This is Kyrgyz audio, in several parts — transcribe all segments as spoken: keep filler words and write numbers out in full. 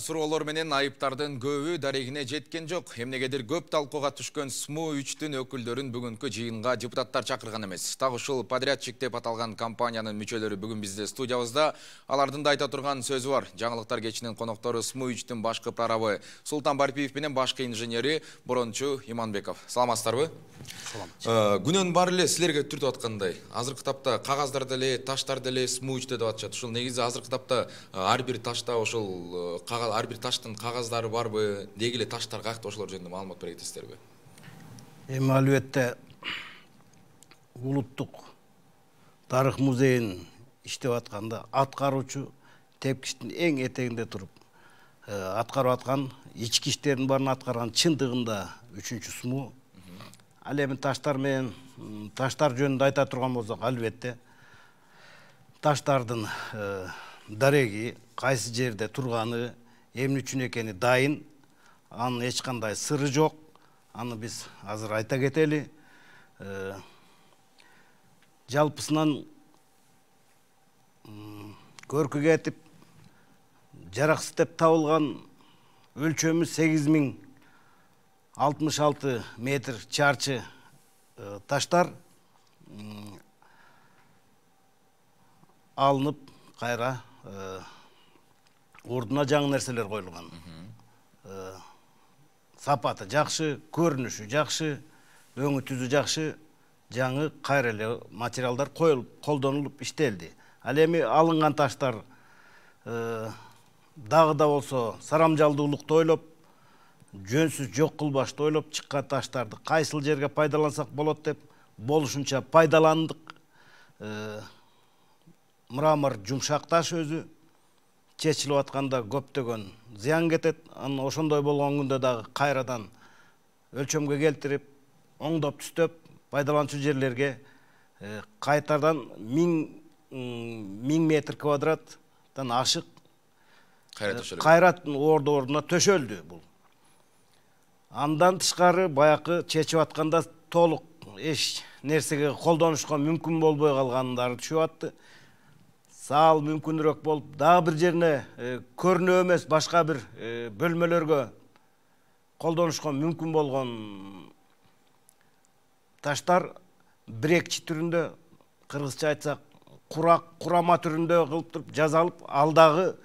Суроолор менен айыптардын көбү дарегине жеткен жок. Эмнегедир көп талкууга түшкөн СМУ үчтүн өкүлдөрүн бүгүнкү жыйынга депутаттар чакырган эмес. Так ушул подрядчик деп аталган компаниянын мүчөлөрү бүгүн бизде студиябызда. Алардын да айта турган сөзү бар. Жаңылыктар кечинин коноктору СМУ үчтүн башкы прорабы Султан Барпиев менен башкы инженери Борончу Иманбеков. Саламатсыздарбы? Салам. Күнөн баары эле силерге түртүп аткандай. Азыркы тапта кагаздар деле, таштар деле СМУ үчтө деп атышат. Ушул негизи азыркы тапта ар бир ташта ошол кагаз ар бир таштын кагаздары барбы, деги эле таштар каякта, ошолор жөнүндө маалымат бере кетесиздерби? Эми албетте улуттук тарых музейин иштеп атканда аткаруучу тепкичтин эң этегинде туруп аткарып аткан, ички иштердин баарын аткарган чындыгында үчүнчү СМУ. Ал эми таштар менен таштар жөнүндө айта турган болсок, албетте таштардын дареги кайсы жерде турганы, эмне үчүн экени дайын, анын эч кандай сыры жок. Аны биз азыр айта кетели. Жалпысынан көркү кетип жараксыз деп табылган өлчөмү сегиз миң алтымыш алты метр чарчы таштар алынып кайра ордуна жаңы нерселер коюлган. Сапаты жакшы, көрүнүшү жакшы, өңү түзү жакшы, жаңы кайра эле материалдар коюлуп, колдонулуп иштелди. Ал эми алынган таштар дагы да болсо сарамжалдуулукту ойлоп, жөнсүз жок кылбашты ойлоп чыккан таштарды кайсыл жерге пайдалансак болот деп болушунча пайдаландык. Мрамор жумшак таш өзү чечилип атканда көптөгөн зыян кетет. Анан ошондой болгон күндө дагы кайрадан өлчөмгө келтирип, оңдоп түстөп, пайдаланчу жерлерге кайтадан миң метр квадраттан ашык кайра орду ордуна төшөлдү бул. Андан тышкары баякы чечип атканда толук эч нерсеге колдонушка мүмкүн болбой калгандары түшүп атты. Саал мүмкүнүрөөк болуп, дагы бир жерине көрүнө эмес башка бир бөлмөлөргө колдонушка мүмкүн болгон таштар бирекчи түрүндө, кыргызча айтсак, курак, курама түрүндө кылып туруп жазалып, ал дагы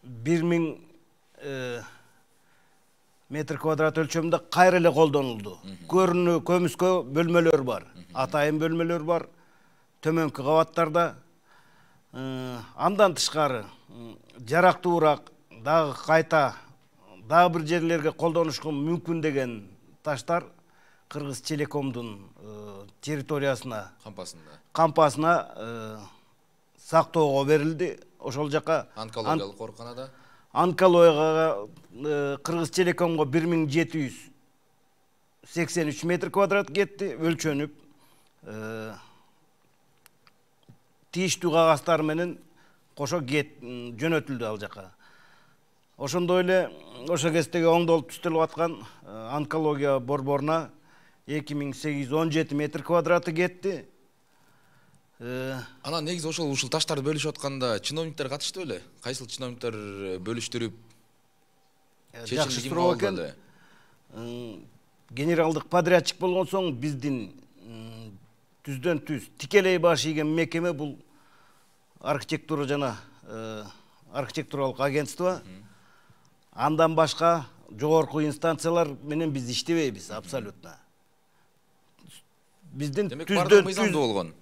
бир миң метр квадрат өлчөмүндө кайра эле колдонулду. Көрүнүү көмүскө бөлмөлөр бар, атайын бөлмөлөр бар, төмөнкү кабаттарда. Андан тышкары жарактуураак, дагы кайта дагы бир жерлерге колдонушка мүмкүн деген таштар Кыргыз Телекомдун территориясына, кампасына кампасына сактоого берилди. Ошол жака онкологиялык ооруканада онкологияга Кыргыз Телекомго бир миң жети жүз сексен үч метр квадрат кетти, өлчөнүп, тийиштүү кагаздар менен кошо жөнөтүлдү ал жака. Ошондой эле ошо кездеги оңдолуп түстөлүп аткан онкология борборуна эки миң сегиз жүз он жети метр квадраты кетти. Анан негизи ошол ушул таштарды бөлүшүп атканда чиновниктер катышты беле? Кайсыл чиновниктер бөлүштүрүп? Жакшы суроо экен. Генералдык подрядчик болгон соң биздин түздөн түз тикелей баш ийген мекеме бул архитектура жана архитектуралык агентство. Андан башка жогорку инстанциялар менен биз иштебейбиз абсолютно. Биздин түздөн түз болгон.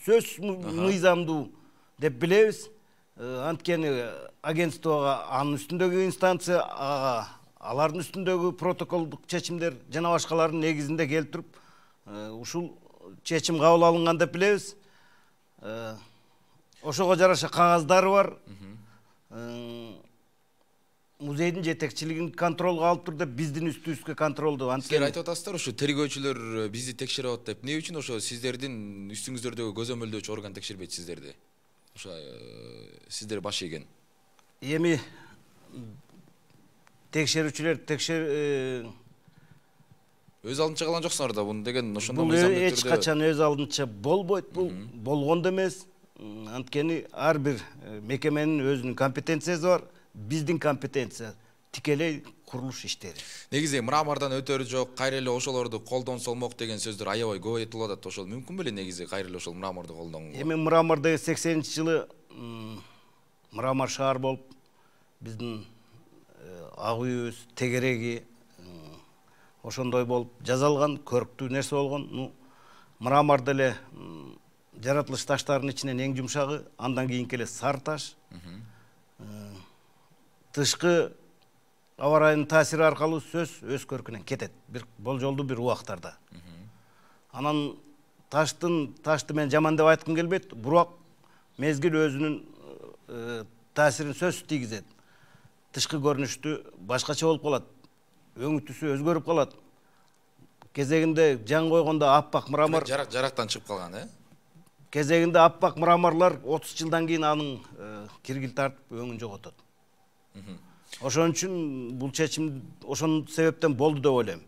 Сөз мыйзамдуу деп билебиз. Анткени агентствого анын үстүндөгү инстанция, алардын үстүндөгү протоколдук чечимдер жана башкалардын негизинде келтирип, ушул чечим кабыл алынган деп билебиз. Ошого жараша кагаздары бар. Музейдин жетекчилигин контролго алып тур деп биздин үстүбүзгө контролду. Силер айтып атасыздар, ушу тергөөчүлөр бизди текшерип атат деп. Эмне үчүн ошо сиздердин үстүңүздөрдөгү көзөмөлдөөчү орган текшербейт сиздерди? Ошо сиздер баш ийген. Эми текшерүүчүлөр текшер өз алдынча калган жоксуңар да, буну деген ошондой мыйзамдуу түрдө. Бул эч качан өз алдынча болбойт, бул болгон да эмес. анткени ар бир мекеменин өзүнүн компетенциясы бар. Биздин компетенция тикелей курулуш иштери. Негизи мрамордон өтөрү жок, кайра эле ошолорду колдонсолмок деген сөздөр аябай көп айтылып атат. Ошол мүмкүн беле негизи кайра эле ошол мраморду колдонгонго? Эми мрамор деген сексенинчи жылы мрамор шаар болуп, биздин ак үйүбүз, тегереги ошондой болуп жасалган, көрктүү нерсе болгон. Ну, мрамор деле жаратылыш таштарынын ичинен эң жумшагы, андан кийинки эле сары таш. Тышкы аба ырайынын таасири аркылуу сөз өз көркүнөн кетет. Бир болжолдуу бир убактарда. Анан таштын ташты мен жаман деп айткым келбейт, бирок мезгил өзүнүн таасирин сөз тийгизет. Тышкы көрүнүштү башкача болуп калат. Өңү түсү өзгөрүп калат. Кезегинде жан койгондо аппак мрамор жарак жарактан чыгып калган, э? Кезегинде аппак мраморлор отуз жылдан кийин анын киргил тартып өңүн жоготот. Ошон үчүн бул чечим ошон себептен болду деп ойлойм.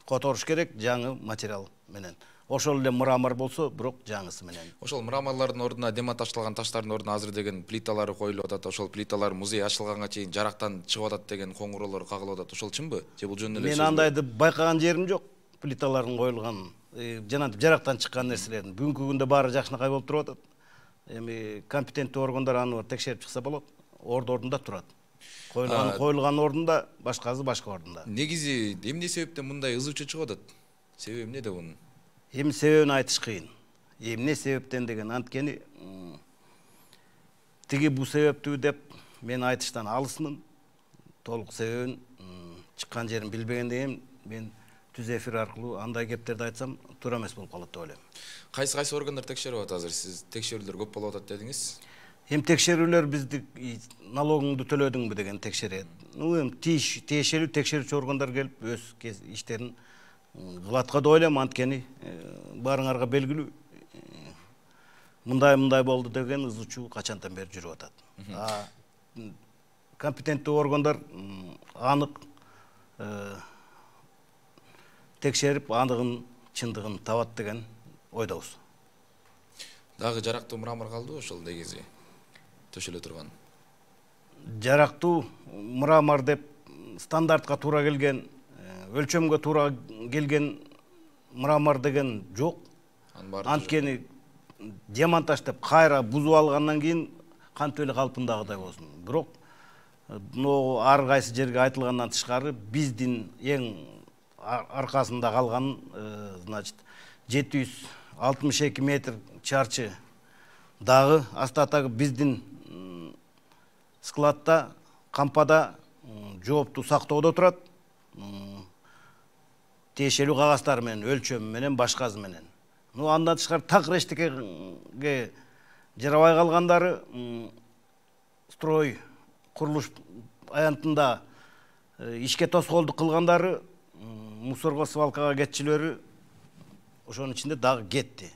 Которуш керек жаңы материал менен. Ошол эле мрамор болсо, бирок жаңысы менен. Ошол мраморлордун ордуна демонтаждалган таштардын ордуна азыр деген плиталары коюлуп атат. Ошол плиталар музей ачылганга чейин жарактан чыгып атат деген коңгуроолор кагылып атат. Ошол чынбы? Же бул жөнүндө эле сөз? Мен андайды байкаган жерим жок. Плиталардын коюлган, жанагы жарактан чыккан нерселердин. Бүгүнкү күндө баары жакшынакай болуп туруп атат. Эми компетенттүү органдар аны текшерип чыкса болот. Орду ордунда турат. Коюлган коюлган ордунда, башкасы башка ордунда. Негизи эмне себептен мындай ызычы чыгып атат? Себеби эмнеде бунун? Эми себебин айтыш кыйын. Эмне себептен деген анткени тиги бул себептүү деп мен айтыштан алысмын. Толук себебин чыккан жерин билбегенден мен түз эфир аркылуу андай кептерди айтсам туура эмес болуп калат деп ойлойм. Кайсы кайсы органдар текшерип атат азыр? Сиз текшерүүлөр көп болуп атат дедиңиз. Эми текшерүүлөр бизди налогуңду төлөдүңбү деген текшерет. Ну эми тиешелүү текшерүүчү органдар келип өз иштерин кылатка деп ойлойм, анткени баарыңарга белгилүү. Мындай-мындай болду деген ызычуу качантан бери жүрүп атат. А компетенттүү органдар анык текшерип, анығын, чындығын табат деген ойдабыз. Дагы жарактуу мрамор калды ошол негизи төшөлө турган? Жарактуу мрамор деп стандартка туура келген, өлчөмгө туура келген мрамор деген жок. Анткени демонтаж деп кайра бузуп алгандан кийин кантип эле калпындагыдай болсун. Бирок ар кайсы жерге айтылгандан тышкары биздин эң аркасында калган, значит, жети жүз алтымыш эки метр чарчы дагы астатагы биздин складта, кампада жоопту сактоодо турат. Тиешелүү кагаздары менен, өлчөмү менен, башкасы менен. Ну андан тышкары так эчтекеге жарабай калгандары строй курулуш аянтында ишке тоскоолдук кылгандары, мусорго, свалкага кетчилери ошонун ичинде дагы кетти.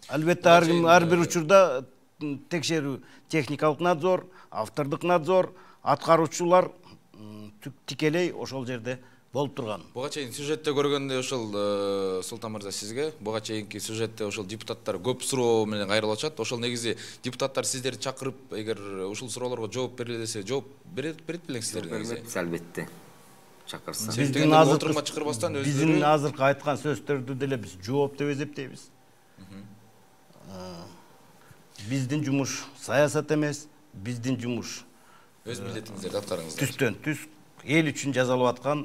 Албетте ар бир учурда текшерүү, техникалык надзор, автордук надзор, аткаруучулар тикелей ошол жерде болуп турган. Буга чейин сюжетте көргөндө ошол Султан мырза сизге, буга чейинки сюжетте ошол депутаттар көп суроо менен кайрылып атышат. Ошол негизи депутаттар сиздерди чакырып, эгер ушул суроолорго жооп бериле десе, жооп берет берет белең сиздер негизи? Албетте. Чакырса. Биздин азыркы чакырбастан өздөрү биздин азыркы айткан сөздөрдү деле биз жооп деп эсептейбиз. Биздин жумуш саясат эмес, биздин жумуш өз милдетиңиздерди аткарыңыздар. Түстөн түз эл үчүн жазалып аткан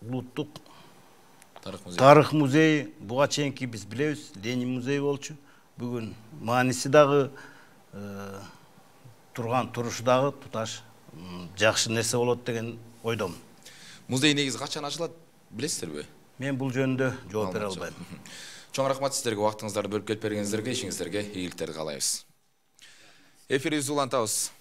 улуттук тарых музейи. Буга чейинки биз билебиз, Ленин музейи болчу. Бүгүн мааниси дагы турган турушу дагы туташ жакшы нерсе болот деген ойдомун. Музей негизи качан ачылат билесиздерби? Мен бул жөнүндө жооп бере албайм. Чоң рахмат сиздерге, убактыңыздарды бөлүп келип бергениңиздерге, ишиңиздерге ийгиликтерди каалайбыз. Эфирибизди улантабыз.